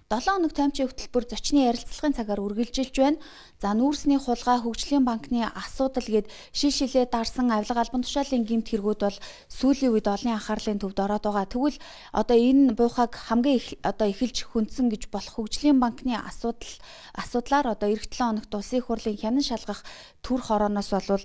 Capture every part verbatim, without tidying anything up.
долоон хоног таймчийн хөтөлбөр зочны ярилцлагын цагаар үргэлжилж байна. За нүүрсний хулгай, хөгжлийн банкны асуудал гээд шил шилээ дарсан авилга албан тушаалын гэмт хэрэгүүд бол сүүлийн үед олон анхаарлын төвд ороод байгаа. Тэгвэл одоо энэ буйхаг хамгийн их одоо эхэлж хүндсэн гэж болох хөгжлийн банкны асуудал асуудлаар одоо эх долоон хоногт улсын их хурлын хянан шалгах төр хорооноос болвол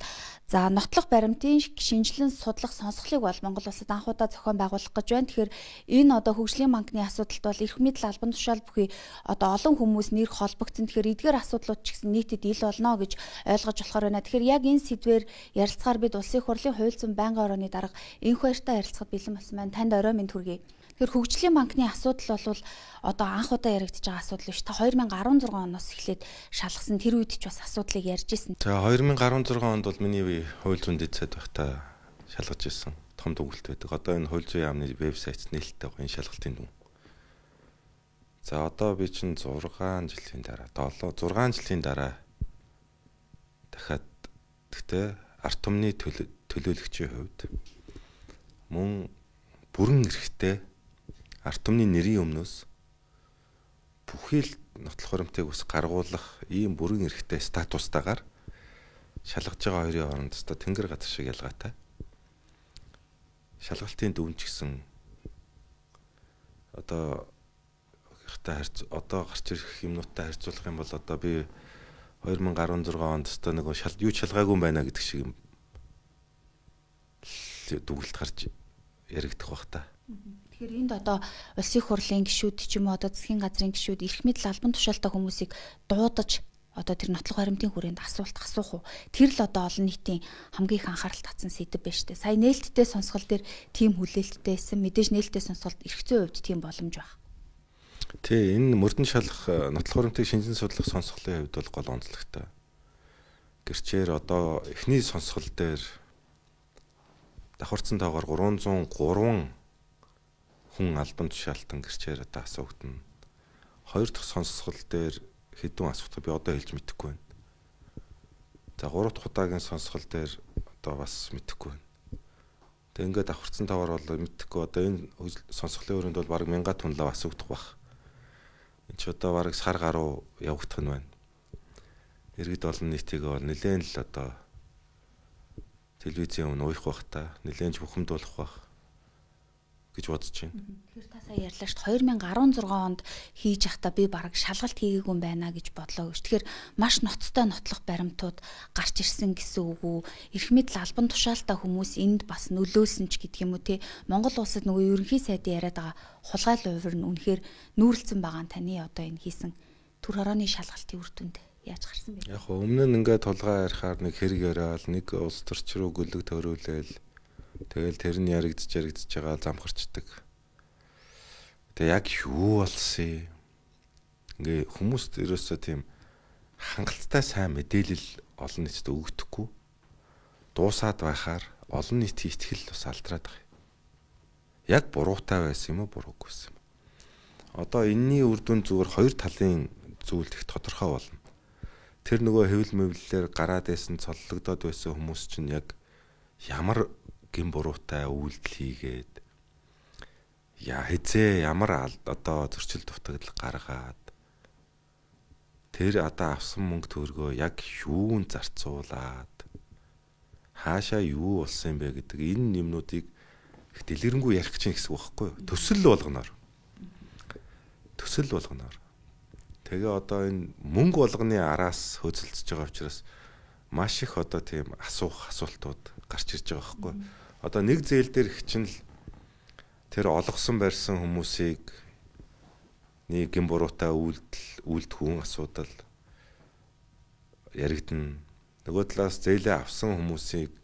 за нотлох баримтын шинжилэн судлах сонсголыг бол Монгол улсад анхудаа зохион байгуулах гэж байна. Тэгэхээр энэ одоо хөгжлийн банкны асуудалд бол эрх мэдэл албан тушаал бүхий одоо олон хүмүүс нэр холбогдсон. Тэгэхээр эдгээр асуудлууд ч гэсэн нийтэд ил болно гэж ойлгож болохоор байна. Тэгэхээр яг энэ сэдвээр ярилцахаар бид улсын их хурлын хууль зүйн байнгын орооны дарга энх баяртай ярилцахад бэлэн болсон байна. Танд орой минь хүргэе. Тэгэхээр хөгжлийн банкны асуудал бол одоо анх удаа яригдж байгаа асуудал биш. Та хоёр мянга арван зургаан оноос эхлээд шалгасан тэр үед ч бас асуудлыг ярьж ирсэн. За хоёр мянга арван зургаан онд бол миний хууль зүйн дэд сайд байхдаа шалгаж ирсэн. Том дүгнэлт байдаг. Одоо энэ хууль зүйн яамны вебсайт нээлттэй байгаа энэ шалгалтын дүн. За одоо би чинь зургаан жилийн дараа, зургаан жилийн дараа дахиад гэхдээ ард түмний төлөөлөгчийн хувьд мөн бүрэн эрхтэй ард түмний нэрийн өмнөөс бүхий л нотлох баримтыг ус гаргуулах ийм бүрэн эрхтэй статустайгаар шалгаж байгаа хоёрын хооронд та тэнгэр газар шиг ялгаатай. Шалгалтын дүн ч гэсэн одоо ихтэй харьц одоо гарч ирэх юмнуудтай харьцуулах юм бол одоо би хоёр мянга арван зургаан онд та нэг шал юу шалгаагүй байна гэдэг шиг юм дүгнэлт гарч яригдах бах та. Тэгэхээр энд одоо улсын их хурлын гишүүд ч юм уу одоо засгийн газрын гишүүд эрх мэдэл албан тушаалтай хүмүүсийг дуудаж одоо тэр нотлох баримтын хүрээнд асуулт асуух уу? Тэр л одоо олон нийтийн хамгийн их анхаарал татсан сэдэв байна шүү дээ. Сая нээлттэй сонсгол дээр тийм хүлээлттэй байсан. Мэдээж нээлттэй сонсголт эрх зүйн хувьд тийм боломж байна. Тий, энэ мөрдөн шалгах нотлох баримтыг шинжлэн судлах сонсголын хувьд бол гол онцлогтой. Гэрчээр одоо эхний сонсгол дээр давхарцсан тоогоор гурван зуун гурван хүн албан тушаалтан гэрчээр одоо асуугдана. Хоёр дахь сонсгол дээр хэдэн асуулт би одоо хэлж мэдэхгүй байна. За гурав дахь удаагийн сонсгол дээр одоо бас мэдэхгүй байна. Тэг ингээд давхарцсан тоогоор бол мэдэхгүй одоо энэ сонсголын өрөөнд бол бараг мянга тунлаа асуугдах бах. Энд ч одоо бараг сар гаруй явагдах нь байна. Иргэд олон нийтийг бол нэлээд л одоо телевизийн өмнө уйх бах та нэлээд бухимдуулах бах гэж бодож байна. Тэгэхээр та сая ярьлаа шүү дээ хоёр мянга арван зургаан онд хийж явахдаа би бараг шалгалт хийгээгүй юм байна гэж бодлоо гэж. Тэгэхээр маш ноцтой нотлох баримтууд гарч ирсэн гэсэн үг үү? Эрх мэдэл албан тушаалтай хүмүүс энд бас нөлөөсөн ч гэдэг юм уу те. Монгол улсад нөгөө ерөнхий сайдын яриад байгаа хулгай лувир нь үнэхээр нүүрлсэн байгаа нь таны одоо энэ хийсэн төр хорооны шалгалтын үр дүнд яаж гарсан бэ? Яг өмнө нь ингээд тулгай ярихаар нэг хэрэг яриад нэг улс төрч рүү гөлөг төрүүлээл тэгэл тэр нь яригдж яригдж байгаа замхарчдаг. Тэгээ яг юу болсон? Ингээ хүмүүст ерөөсөө тийм хангалттай сайн мэдээлэл олон нийтэд өгдөхгүй. Дуусаад байхаар олон нийтийн итгэл бас алдраад байгаа. Яг буруутай байсан юм уу, буруугүй байсан юм. Одоо энэний үр дүн зүгээр хоёр талын зүйл их тодорхой болно. Тэр нөгөө хэвлэл мэвлэлээр гараад байсан цоллогдоод байсан хүмүүс чинь яг ямар гин буруутай үйлдэл хийгээд яа хэзээ ямар одоо зөрчил дутагдал гаргаад тэр одоо авсан мөнгө төгрөгөө яг юунд зарцуулаад хаашаа юу болсон юм бэ гэдэг энэ юмнуудыг их дэлгэрэнгүй ярих гэж гэсэн үг байхгүй юу? Төсөл болгоноор. Төсөл болгоноор. Тэгээ одоо энэ мөнгө болгоны араас хөөцөлдөж байгаа учраас маш их одоо тийм асуух асуултууд гарч ирж байгаа байхгүй юу? Одоо нэг зээл дээр хичнээн л тэр олгосон барьсан хүмүүсийг нэг гин буруутай үйлдэл үйлдэх асуудал яригдана. Нөгөө талаас зээлээ авсан хүмүүсийг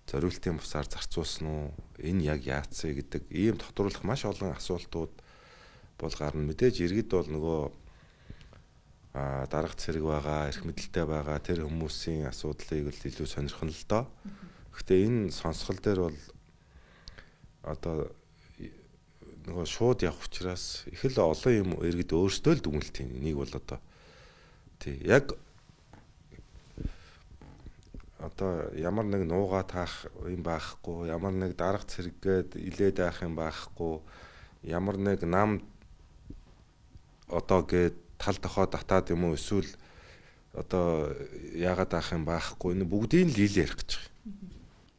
зориултын бусаар зарцуулсан уу? Энэ яг яатсан гэдэг ийм тодруулах маш олон асуултууд бол гарна. Мэдээж иргэд бол нөгөө а дарга цэрэг байгаа, эрх мэдэлтэй байгаа тэр хүмүүсийн асуудлыг л илүү сонирхон л доо. Гэхдээ энэ сонсгол дээр бол одоо нөгөө шууд явах учраас их л олон юм иргэд өөрсдөө л дүгнэлт юм. Энийг бол одоо тий яг одоо ямар нэг нуугаа таах юм байхгүй, ямар нэг дарга цэрэггээд илээд байх юм байхгүй, ямар нэг нам одоо гээд тал дохоо татаад юм уу эсвэл одоо яагаад авах юм байхгүй энэ бүгдийг л ил ярих гэж байгаа.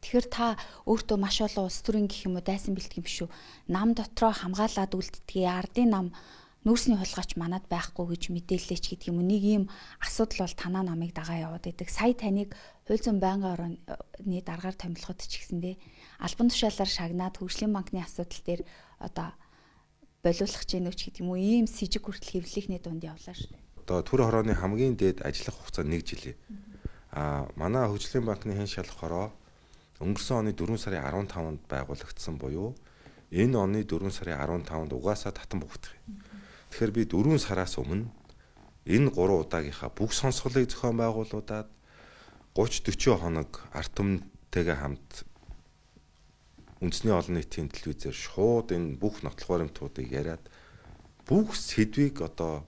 Тэгэхээр та өөртөө маш олон улс төрийн гэх юм уу дайсан бэлтгэх юм шүү. Нам дотроо хамгаалаад үлддгийг ардын нам нүүрсний хулгайч манад байхгүй гэж мэдээлэлч гэдэг юм уу. Нэг ийм асуудал бол танаа намыг дагаа яваад байдаг. Сая таныг хууль зүйн байнгын орны даргаар томилоход ч гэсэндээ албан тушаалаар шагнаад хөгжлийн банкны асуудал дээр одоо болиулах гэж нөөч гэдэг юм уу. Ийм с жиг хүртэл хэвлэлийнхний дунд явлаа шүү. Одоо төр хорооны хамгийн дээд ажиллах хугацаа нэг жилээ. Аа манай хөгжлийн банкны хэн шалах хороо өнгөрсөн оны дөрвөн сарын арван таванд байгуулагдсан буюу энэ оны дөрвөн сарын арван таванд угаасаа татан богдох юм. Тэгэхээр би дөрвөн сараас өмнө энэ гурван удаагийнхаа бүх сонсголыг зохион байгуулуудаад гуйч дөрвөн хоног ард түмэнтэйгээ хамт үндэсний олон нийтийн телевизээр шууд энэ бүх нотлох баримтуудыг яриад бүх сэдвийг одоо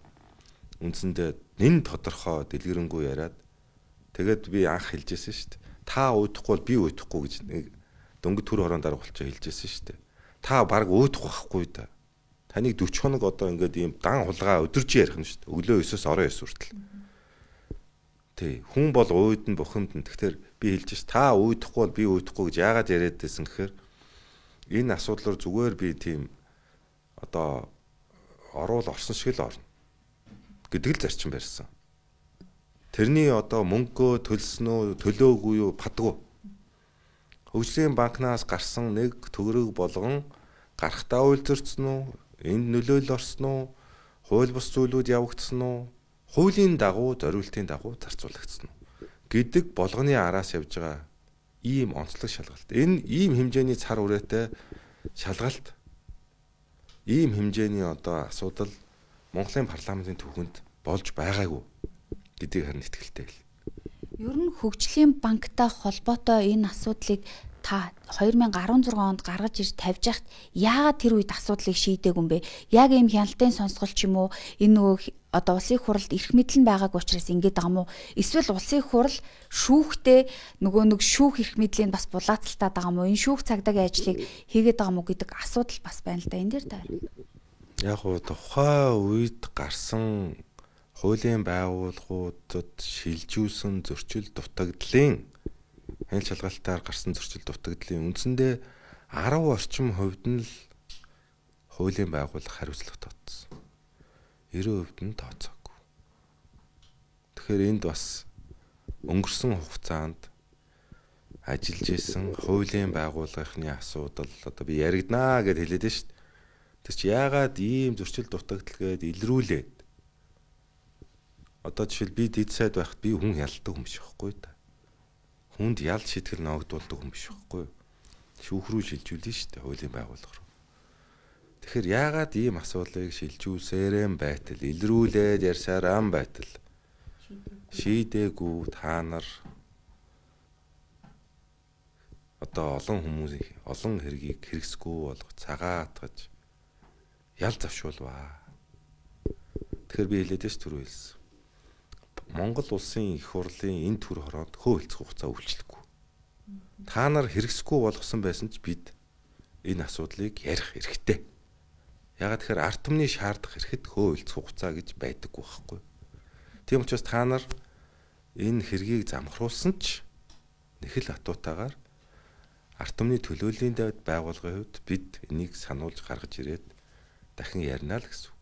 үндсэндээ нэн тодорхой дэлгэрэнгүй яриад тэгээд би анх хэлжсэн шүү дээ. Та уудахгүй бол би уудахгүй гэж нэг дөнгөж төр хорон дарга болчоо хэлжсэн шүү дээ. Та баг уудахгүй байхгүй да. Таныг дөрвөн хоног одоо ингээд ийм дан хулгай өдөрж ярих нь шүү дээ. Өглөө өсөөс орон ёс хүртэл. Тий, хүн бол ууд нь бухимд нь. Тэгэхээр би хэлж ш та уудахгүй бол би уудахгүй гэж яагаад яриад байсан гэхээр энэ асуудлаар зүгээр би тийм одоо оруул орсон шиг л орно гэдэг л зарчим барьсан. Тэрний одоо мөнгөө төлсөн үү, төлөөгүй юу падгүй. Хөгжлийн банкнаас гарсан нэг төгрөг болгон гарахтаа үйлдвэрцэн үү, энд нөлөөлөл орсон уу, хууль бус зүйлүүд явагдсан уу, хуулийн дагуу, зориултын дагуу зарцуулагдсан уу гэдэг болгоны араас явж байгаа ийм онцлог шалгалт. Энэ ийм хэмжээний цар үрээтэй шалгалт, ийм хэмжээний одоо асуудал Монголын парламентын түүхэнд болж байгаагүй гэдгийг харин итгэлтэй л. Ер нь хөгжлийн банктай холбоотой энэ асуудлыг та хоёр мянга арван зургаан онд гаргаж ирж тавьж яхад яагаад тэр үед асуудлыг шийдээгүй юм бэ? Яг ийм хяналтын сонсгол ч юм уу энэ нөгөө одоо улсын хуралд эрх мэдэл нь байгааг учраас ингэж байгаа юм уу? Эсвэл улсын хурал шүүхтэй нөгөө нэг шүүх эрх мэдлийг бас булаацалтаад байгаа юм уу? Энэ шүүх цагдаагийн ажлыг хийгээд байгаа юм уу гэдэг асуудал бас байна л да. Энэ дээр та. Яг уу тухайн үед гарсан хуулийн байгууллагуудад шилжүүлсэн зөрчил дутагдлын хянал шалгалтаар гарсан зөрчил дутагдлын үндсэндээ арав орчим хувьд нь л хуулийн байгууллага хариуцлага тооцсон. девять хувьд нь тооцоогүй. Тэгэхээр энд бас өнгөрсөн хугацаанд ажиллаж исэн хуулийн байгууллагын асуудал одоо би яригднаа гэд хэлээд шүү дээ. Тэр чи яагаад ийм зөрчил дутагдал гээд илрүүлээд одоо жишээл би дэд сайд байхад би хүн ялдаг юм биш байхгүй да. Хүнд ялд шийтгэл ногдуулдаг юм биш байхгүй. Шүүх рүү шилжүүлнэ шүү дээ хуулийн байгууллага руу. Тэгэхээр яагаад ийм асуудлыг шилжүүлсээрэн байтал илрүүлээд ярьсараа байтал шийдээгүй та нар одоо олон хүмүүсийн олон хэргийг хэрэгсгүй болгох цагаатгаж ял завшуулваа. Тэгэхээр би хэлээд ш түр хэлсэн. Монгол улсын их хурлын энэ төр хороонд хөөлцөх хугацаа үйлчлэхгүй. Та нар хэрэгсгүй болгосон байсан ч бид энэ асуудлыг ярих хэрэгтэй. Ягаад тэгэхээр ард түмний шаардах хэрэгэд хөөлцөх хугацаа гэж байдаггүй байхгүй. Тийм учраас та нар энэ хэргийг замхруулсан ч нэг л атуутаагаар ард түмний төлөөллийн дэвд байгуулгын хувьд бид энийг сануулж гаргаж ирээд дахин ярина л гэсэн үг.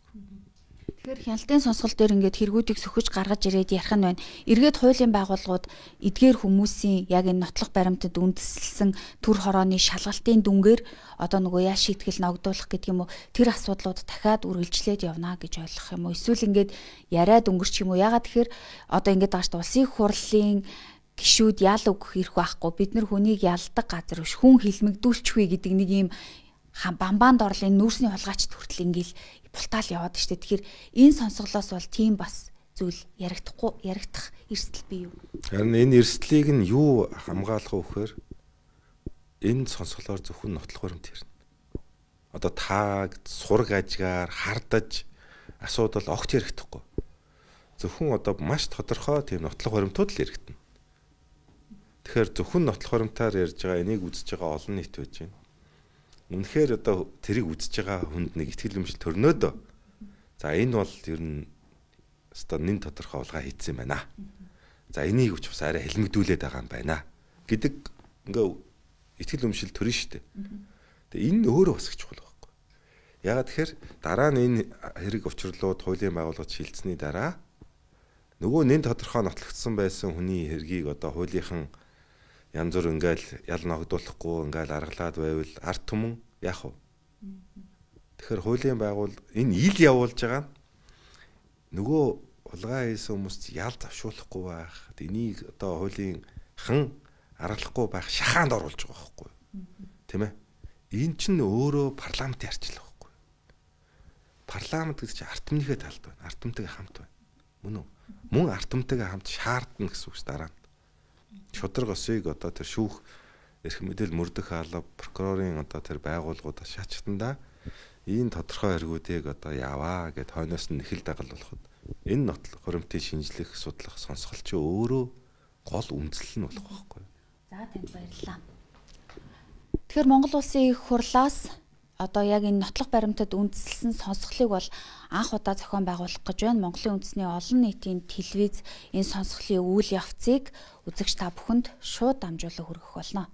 Тэгэхээр хяналтын сонсгол дээр ингээд хэрэгүүдийг сөхөж гаргаж ирээд ярих нь байна. Эргээд хуулийн байгууллагууд эдгээр хүмүүсийн яг энэ нотлох баримтад үндэслэлсэн төр хорооны шалгалтын дүнгээр одоо нөгөө яа шийтгэл ногдуулах гэдэг юм уу тэр асуудлууд дахиад үргэлжлээд явна гэж ойлгох юм уу? Эсвэл ингээд яриад өнгөрч юм уу? Ягаад тэгэхээр одоо ингээд байгаа шүү дээ улсын хурлын гишүүд ял өгөх эрх байхгүй. Бид нар хүнийг ялдаг газар биш хүн хилмигдүүлчихвэ гэдэг нэг юм бамбаанд орлын нүүрсний хулгайч хүртэл ингээл бултаал яваад штэ. Тэгэхээр энэ сонсголоос бол тийм бас зүйл яригдахгүй яригдах эрсдэл бий юу? Харин энэ эрсдлийг нь юу хамгаалах вэ гэхээр энэ сонсголоор зөвхөн нотлох баримт ирнэ. Одоо тааг сураг ажгаар хардаж асуудал огт яригдахгүй. Зөвхөн одоо маш тодорхой тийм нотлох баримтууд л яригдана. Тэгэхээр зөвхөн нотлох баримтаар ярьж байгаа энийг үзэж байгаа олон нийт байж байна. Үнэхээр одоо тэрийг үзэж байгаа хүнд нэг ихтгэл өмчл төрнөөдөө. За энэ бол ер нь өстой нэн тодорхой улгаа хийсэн юм байна. За энийг ч бас арай хэлмэгдүүлээд байгаа юм байна гэдэг ингээ итгэл үнэмшил төрн шүү дээ. Тэгээ энэ өөрөө бас их чухал байхгүй. Ягаад тэгэхээр дараа нь энэ хэрэг учрлууд хуулийн байгууллагад шилжсэний дараа нөгөө нэн тодорхой нотлогдсон байсан хүний хэргийг одоо хуулийнхан янз бүр ингээл ял ногдуулахгүй ингээл аргалаад байвал арт түмэн яах вэ? Тэгэхээр хуулийн байгуул энэ ил явуулж байгаа нөгөө улгаа хийсэн хүмүүст ял завшуулахгүй байх. Энийг одоо хуулийн хан аргалахгүй байх шахаанд оруулж байгаа байхгүй юу? Тэ мэ? Энэ чинь өөрөө парламентын арчлал байхгүй юу? Парламент гэдэг чинь арт түмнийхээ талд байна. Арт түмтэйгээ хамт байна. Мөн үү? Мөн арт түмтэйгээ хамт шаардна гэсэн үг дараа нь. Шудраг осыг одоо тэр шүүх эрх мэдэл мөрдөх алба прокурорын одоо тэр байгууллагуудаас шаачтандаа энэ тодорхой хэрэгүүдийг одоо яваа гэд хойноос нь нэхэл дагал болоход энэ нотлох хуримтын шинжлэх судлах сонсголч өөрөө гол үндэслэл нь болох байхгүй юу? За танд баярлалаа. Тэгэхээр Монгол Улсын их хурлаас одоо яг энэ нотлох баримтад үндэслэн сонсголыг бол анх удаа зохион байгуулах гэж байна. Монголын үндэсний олон нийтийн телевиз энэ сонсголын үйл явцыг үзэгч та бүхэнд шууд дамжуулан хүргэх болно.